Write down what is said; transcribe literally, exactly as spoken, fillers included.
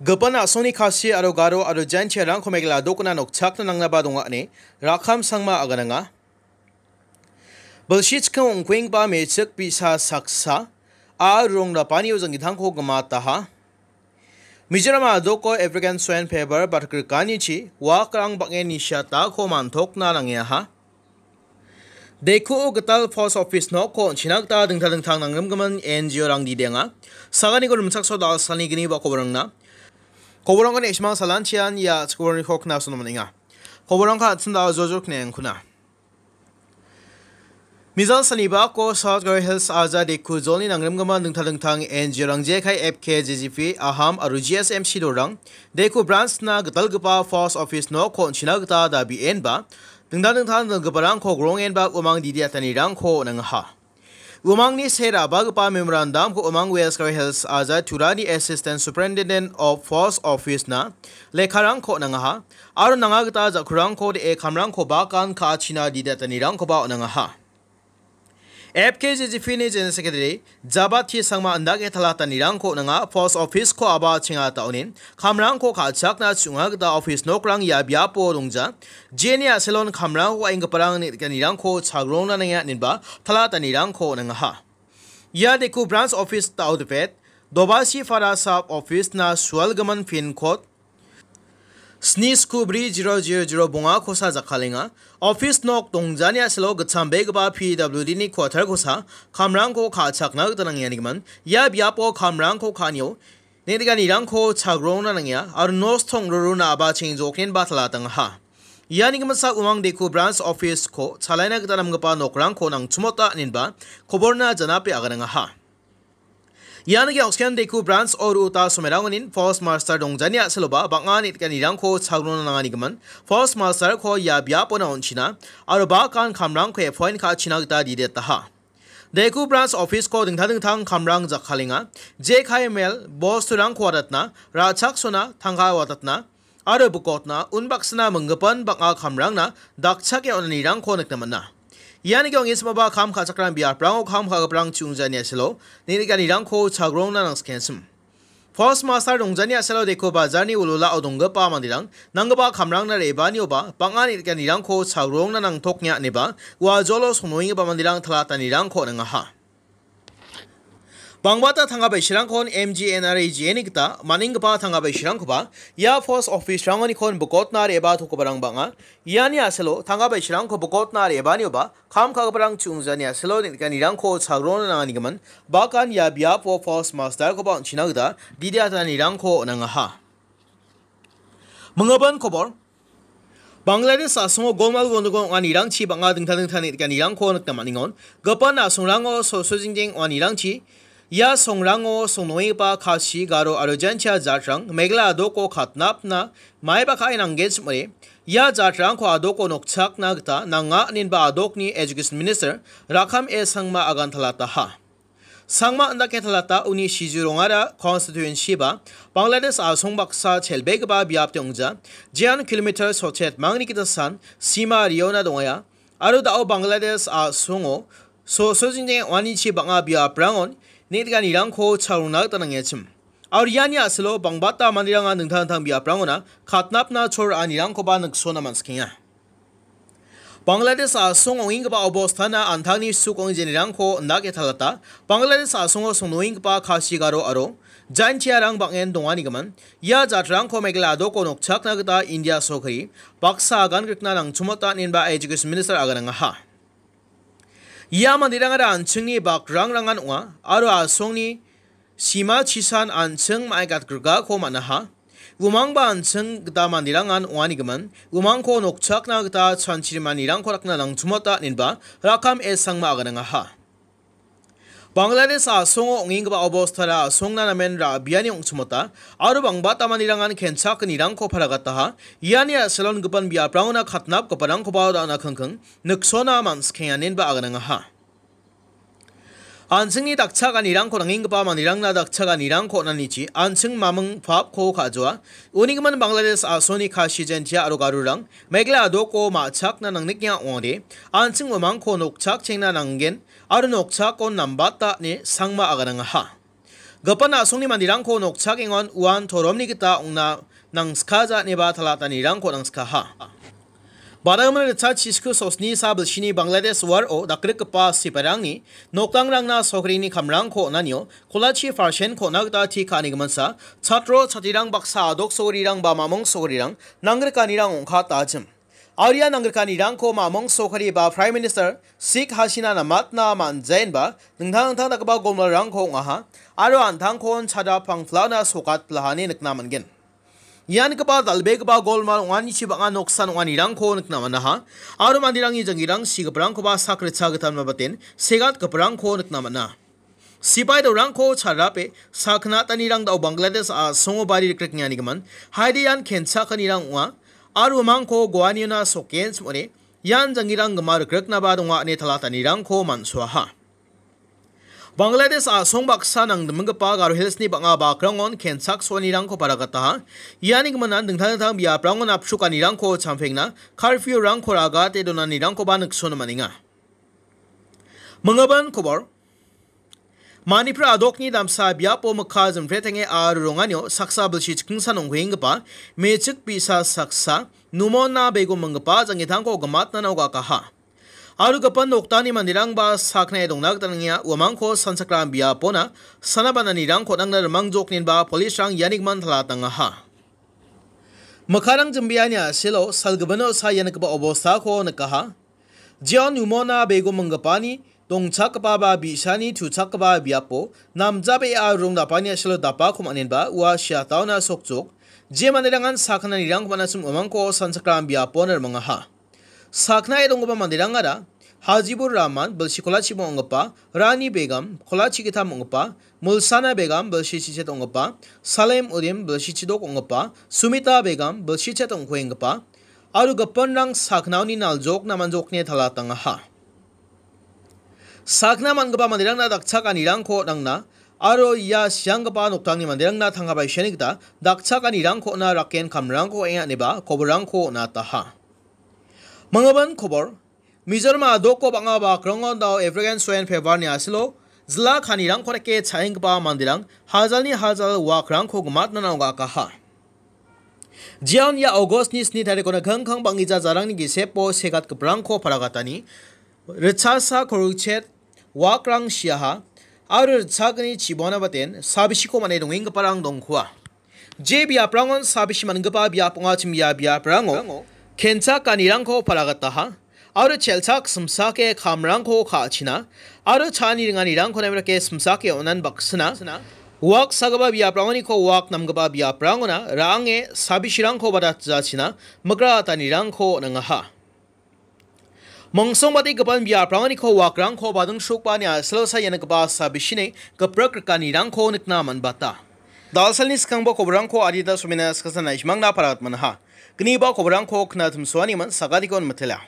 Gipin a·songni Khasi aro Garo aro Jaintiarangko Meghalaya dokona nokchakna nangnaba donga ine Rakham Sangma agananga. Bilsi chikking ong·kuenggipa me·chik bi·sa saksa a rong rapanio janggitangko gimataha. Mizoram a·doko African Swine Fever batkrikkanichi wakrang bang·en nisiatako man·tokna nangeaha. Dekuo gital post office nokko on·china gita dingtang dingtang nangrimgimin N G O-rang didenga. Saganiko rimchakso dal·salni gni ba koborangna. Koborangko ne·simang salanchian ia chikorniko knasono man·enga. Koborangko an·ching da·o jojok ne·angkuna. Mizal sanibako South Garo Hills Aja Deku jolni nangrimgimin dingtang dingtang N G O-rang jekai F K J G P, Aham aro G S M C dorang Deku branch-na gitalgipa post office nokko on·china gita dabienba dingtang dingtang donggiparangko grongenba umang didiatanirangko nangaha. Umangni se ra·bagipa memorandum-ko umang West Garo Hills Aja Turani Assistant Superintendent of Post Office-na lekkarangko nangaha, aro nanga gita jakkurangko de·e kamrangko bakan ka·achina didiatanirangkoba on·angaha. F K J G P-ni General Secretary Jabati Sangma indake talatanirangko nanga post office-ko aba chengata onin kamrangko ka·chakna chunga gita office nokrang ia biapo dongja. Jeni a·selon kamrangko ka·enggiparang nirangko chagrongna nangenga inenba talatanirangko nangaha. Ia Deku branch office ta·o dipet, Dobasi Fara sub office-na sualgimin pin code sni sku bri zero zero zero bonga kosa jakkalenga. Office nok dongjani a·selo gitchambegipa P W D-ni quarter kosa kamrangko ka·chakna gita nangenga. Ia biapo kamrangko ka·anio neng·nikanirangko chagrongna nangenga aro nos tong·rorona aba chengjoknenba talatangaha. Iani gimsa umang Deku branch office-ko chalaina gita namgipa nokrangko nangchimota inenba koborna janape aganangaha. Ian ge·oksken Deku branch-o ru·uta somerangonin post master dongjani a·seloba bang·a neng·nikanirangko chagrona nanganigimin post master-ko ia biapona on·china aro bakan kamrangko appoint ka·china gita didetaha. Deku branch office-ko dingtang dingtang kamrang jakkalenga, jekai mel bosturangko watatna, ra·chaksona, tangka watatna, aro bikotna unbaksana minggipan bang·a kamrangna dakchake on·anirangko nikna man·a. Ian ge·ong·e samaba kam ka·chakram biaprango kam ka·giparang chungjani a·selo neng·nikanirangko chagrongna nangsikensim. Post master dongjani a·selo Deku bajarni wilwilao donggipa manderang nanggipa kamrangna re·baanioba bang·a neng·nikanirangko chagrongna nangtoknga ineba ua jolo songnoenggipa manderang talatanirangko on·angaha. Bangbata tangka bai sirangkon M G N R A G-ni gita man·enggipa tangka bai sirangkoba ia post office-rangonikon bikotna re·batogiparang bang·a. Iani a·selo tangka bai sirangko bikotna re·baanioba kam ka·giparang chungjani a·selo neng·nikanirangko chagrona nanganigimin bakan ia biapo post master-koba on·china gita didiatanirangko on·angaha. Minggipan kobor. Bangladesh a·songo golmal gondogol ong·anirangchi bang·a dingtang dingtang neng·nikanirangko nikna man·engon. Gipin a·songrango so·so jingjeng ong·anirangchi ia songrango songnoenggipa Khasi, Garo aro Jaintia jatrang Meghalaya a·doko katnapna maiba ka·e nanggenchim ong·ode. Ia jatrangko a·doko nokchakna gita nanga inenba a·dokni Education Minister Rakham A Sangma agantalataha. Sangma indake talata uni siju rongara constituency ba Bangladesh a·song baksa chelbegipa biapde ong·ja, jean kilometer sochet mangni gita san sima riona dongaia, aro da·o Bangladesh a·songo so-, so-, jingjeng ong·anichi bang·a biaprangon neng·nikanirangko chagrona gita nangengachim. Aro iani a·selo bangbata manderangan dingtang dingtang biaprangona katnapna chol ra·anirangkoba niksona man·sikenga. Bangladesh a·song ong·enggipa obostana an·tangni suk ong·e jenirangko indake talata. Bangladesh a·songo songnoenggipa Khasi, Garo aro Jaintiarang bang·en donganigimin ia jatrangko Meghalaya a·doko nokchakna gita India sorkari baksa agan grikna nangchimota inenba Education Minister aganangaha. Ia manderangara an·chingni bakrangrangan ong·a aro a·songni sima chisan an·ching ma·e gatgrikako man·aha. Umangba an·ching gita manderangan ong·anigimin, umangko nokchakna gita chanchirimanirangko dakna nangchimota inenba Rakham A Sangma aganangaha. Bangladesh a·songo ong·enggipa obostara a·songna namen ra·biani ong·chimota aro bangbata manderangan kenchakgnirangko paragataha. Iani a·selon gipin biaprangona katnapgiparangkoba da·na kingking niksona man·sikenga inenba aganangaha. An·chingni dakchakanirangko nangenggipa manderangna dakchakanirangko on·anichi an·ching maming papko ka·joa. Unigimin Bangladesh a·songni Khasi, Jaintia aro Garorang Meghalaya a·doko ma·chakna nangnikna ong·ode, an·ching umangko nokchakchengna nanggen aro nokchakon nambata ine Sangma aganangaha. Gipin a·songni manderangko nokchakengon uan toromni gita ong·na nangskaja ineba talatanirangko nangskaha. Badagimin ritchak chisku sosni sa bilsini Bangladesh waro dakgrikgipa sipairangni nokdangrangna sokrini kamrangko on·anio kolachi parsen ko·na gita ti ka·anigiminsa chatro chatrirang baksa adok sogirirang ba mamung sogirirang nangrikanirang ong·katajim. Aro ia nangrikanirangko mamung sokari ba Prime Minister Sheikh Hasina namatna man·jaenba dingtang dingtang dakgipa golmalrangko ong·aha aro an·tangkon chada pangplana sokatplahani nikna man·gen. Ian gipa dal·begipa golmal ong·anichi bang·a noksan ong·anirangko nikna man·aha aro manderangni jangirang sigiparangkoba sakritcha gitalma baten segatgiparangko nikna man·a. Sipai dorangko charape sakgnatanirang dao Bangladesh a·songo bari rikriknianigimin haide ian kenchakanirang ong·a aro uamangko goaniona sokenchim ong·ode ian jangirang gima rikriknaba donga ine talatanirangko man·soaha. Bangladesh a·song baksa nangdiminggipa Garo Hillsni bang·a bakrangon kenchak soanirangko paragataha. Iani giminan dingtang dingtang biaprangon apchukanirangko champengna, curfew-rangko ragate donanirangkoba niksono man·enga. Minggimin kobor. Manipur adokni damsa biapo mikka jimpretange aro ronganio saksa bilsi chikingsan ong·kuenggipa mechik bi·sa saksa Numona Begum minggipa jangitangko gimatnano gakaha. Aro gipin noktangni manderangba saknae dongna gita nangenga uamangko sanchakram biapona sana bananirangko nangna rimangjokninba police-rang iani gimin talatangaha. Mikkarang jimbeani a·selo salgibino sa ia nikgipa obostako nikaha. Jeon Numona Begum minggipani dongchakgipa ba bi·sani tuchakgipa biapo namjabea rong dapani a·selo dapako man·enba ua siataona sokjok. Je manderangan sakgnanirangko man·achim uamangko sanchakram biapona rimangaha. Saknae donggipa manderangara Hajibur Rahman, bilsi kolachi ong·gipa, Rani Begum, kolachi gittam ong·gipa, Mulsana Begum, bilsi chichet ong·gipa, Salem Udim, bilsi chidok ong·gipa, Sumita Begum, bilsi chet ong·kuenggipa, aro gipinrang saknaoni naljok namanjokni talatangaha. Sakna man·gipa manderangna dakchakanirangko nangna, aro ia sianggipa noktangni manderangna tangka baisiani gita dakchakanirangko on·a raken kamrangko eng·a ineba koborrangko on·ataha. Minggimin kobor. Mizoram adoko bang·a bakrangon dao African Swine Fever-ni a·selo jila kanirangko dake cha·enggipa manderang hajalni hajal wakrangko gimatnana ong·akaha. Jeon ia August-ni sni tarikona kangkang bang·gija jarangni gisepo segatgiparangko paragatani ritchasa korukchet wakrang siaha aro ritchagni chibona baten sabisiko man·e dongenggiparang dongkoa. Je biaprangon sabisi man·gipa biap ong·achim ia biaprango kenchak ganirangko paragataha aro chelchak simsake kamrangko ka·achina aro cha·ani ringanirangko namen dake simsake on·an baksina wak sagipa biaprangoniko wak namgipa biaprangona ra·ange sabisirangko badatjachina migra atanirangko on·angaha. Mongsongbate gipin biaprangoniko wakrangko bading srukbani a·selo saia nikgipa sabisini giprik rikanirangko nikna man·bata. Dalsalni skangbo koborrangko adita somena saksa naismangna paratmanaha. Gniba koborrangko knatimsoaniman sagatikon mitela.